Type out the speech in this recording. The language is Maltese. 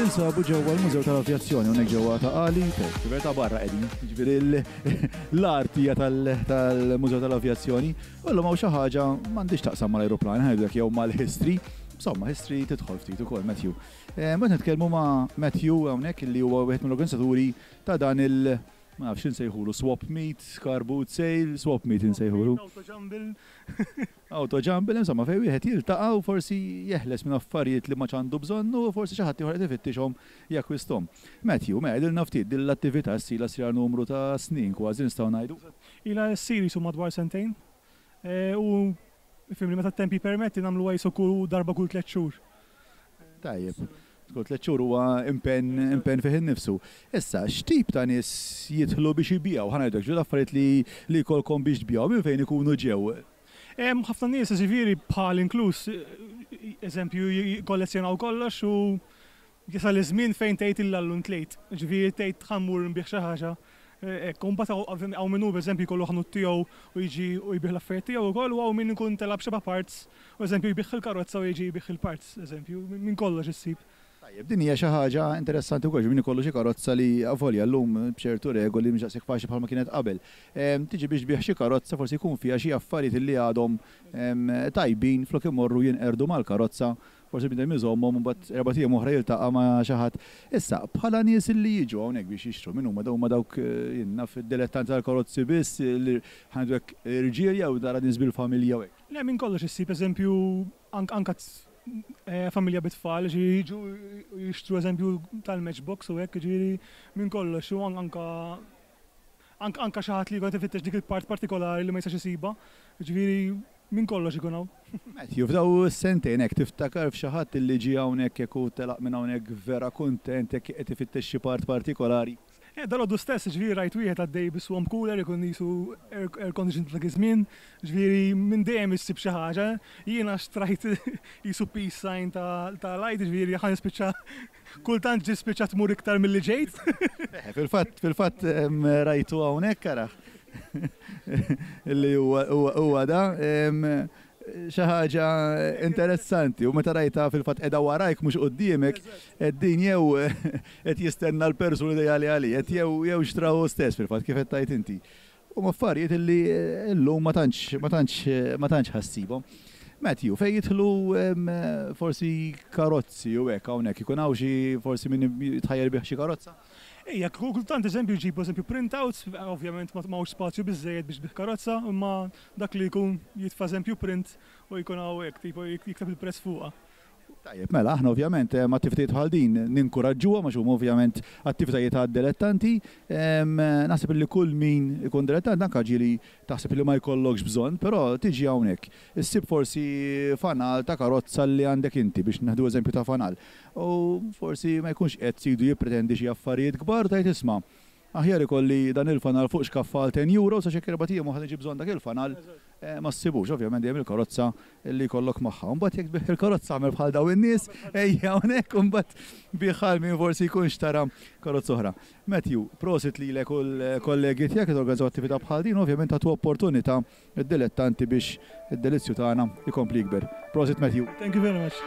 Ninsabu ġewwa l-Mużew tal-Avjazzjoni hawnhekk ġewwa Ta' Qali, fil-verità barra qegħdin, jiġifieri l-art hija tal-Mużew tal-Avjazzjoni. U llum hawn xi ħaġa m'għandhiex taqsam mal-ajruplan, ħa ngħidulek jew mal-history. Insomma, history tidħol ftit ukoll, Matthew. Mbagħad nitkellmu ma' Matthew hawnhekk li huwa wieħed mill-organizzaturi ta' dan il- ma nafx x'insejħulu, swap meet, car boot sale, swap meet insejħulu. Auto jumble. Auto jumble, insomma fejn wieħed jiltaqa' u forsi jeħles minn affarijiet li m'għadx għandu bżonn u forsi xi ħadd ieħor qed ifittixhom jakkwisthom. Matthew, mela għidilna ftit, din l-attività issa ilha ssir għal numru ta' snin kważi nistgħu ngħidu. Ilha ssir qisu madwar sentejn. U fimni meta t-temp jippermetti nagħmluha qisu kull darba kull tlett xhur. Tajjeb. Kull tlett xhur huwa impenn impenn fih innifsu. Issa, x'tip ta' nies jidħlu biex ibigħu? Ħa ngħidlek, ġieli affarijiet li li jkollkom biex tbigħu, minn fejn ikunu ġew? Hemm ħafna nies, jiġifieri bħali inkluż, eżempju, jikkollezzjonaw kollox u Jasal iż-żmien fejn tgħid illa llum tlejt. Ġifieri tgħid ħa mmur nbigħ xi ħaġa hekk. U mbagħad hawn min hu pereżempju jkollu ħanut tiegħu u jiġi u jbigħ l-affarijiet tiegħu wkoll u hawn min ikun tela' b'xebgħa parts u eżempju jbigħ il-karozza u jiġi jbigħ il-parts eżempju. Minn kollox issib. Tajjeb, din hija xi ħaġa interessanti wkoll, ġifieri min ikollu xi karozza li avolja llum b'ċertu regoli mhix daqshekk faċli bħalma kienet qabel. Tiġi biex tbigħ xi karozza forsi jkun fiha xi affarijiet li għadhom tajbin flok imorru jinqerdu mal-karozza Forsi bniedem iżommhom u mbagħad erbat ijiem oħra jiltaqa' ma' xi ħadd. Issa, bħala nies li jiġu hawnhekk biex jixtru, min huma? Huma dawk, jien naf, id-dilettanti tal-karozzi biss, ħa ngħidu hekk, irġiel jew tara nies bil-familja u hekk? Le, minn kollox issib, eżempju, anke familja bit-tfal, ġifieri jiġu jixtru eżempju tal-matchbox u hekk, jiġifieri minn kollox u anke anke xi ħadd li jkun qed ifittex dik il-part partikolari li ma jistax isibha, jiġifieri minn kollox ikun hawn. Matthew, f'daw is-sentejn hekk tiftakar f'xi ħadd li ġie hawnhekk hekk u telaq minn hawnhekk vera kuntent hekk qed ifittex xi part partikolari? Eh, dalgħodu stess, jiġifieri rajt wieħed għaddej bi swamp cooler ikun qisu air condition ta' dak iż-żmien, jiġifieri minn dejjem issib xi ħaġa. Jiena xtrajt qisu peace sign ta' light, jiġifieri ħa nispiċċa Kultant ġie spiċċa tmur iktar milli ġejt. Eħe, fil-fatt, fil-fatt rajtu hawnhekk araħ. Illi huwa huwa da. Xi ħaġa interessanti u meta rajtha fil-fatt qiegħda warajk mhux quddiemek, qed din jew qed jistenna l-persuna ideali għalih, qed jew jew xtrahu hu stess fil-fatt kif qed tgħid inti. Huma affarijiet illi llum ma tantx ma tantx ma tantx ħa ssibhom. Matthew, fejn jidħlu forsi karozzi u hekk hawnhekk ikun hawn xi forsi min jitħajjar ibigħ xi karozza? Ejja, kultant eżempju jġibu eżempju printouts, ovvjament ma hawnx spazju biżżejjed biex tbigħ karozza, imma dak li jkun jitfa' eżempju print u jkun hawn hekk tipo jikteb il-prezz fuqha. Tajjeb, mela, aħna ovvjament attivitajiet bħal din ninkuraġġuhom għax huma ovvjament attivitajiet għad-dilettanti. Naħseb li kull min ikun dilettant anke ġieli taħseb li ma jkollokx bżonn, però tiġi hawnhekk, issib forsi fanal ta' karozza li għandek inti biex nieħdu eżempju ta' fanal. U forsi ma jkunx qed sidu jippretendi xi affarijiet kbar u tgħid isma' Aħjar ikolli dan il-fanal fuq xkaffa għal ten euros għax jekk erbat ijiem oħra niġi bżonn dak il-fanal ma ssibux. Ovvjament dejjem il-karozza li jkollok magħha. U mbagħad jekk tbigħ il-karozza agħmel bħal dawn in-nies, ejja hawnhekk u mbagħad bigħha għal min forsi jkun xtara karozza oħra. Matthew, prosit lilek u l-kollegi tiegħek li torganizzaw attività bħal din u ovvjament tagħtu opportunità lid-dilettanti biex id-delizzju tagħna jkompli jikber. Prosit Matthew. Thank you very much.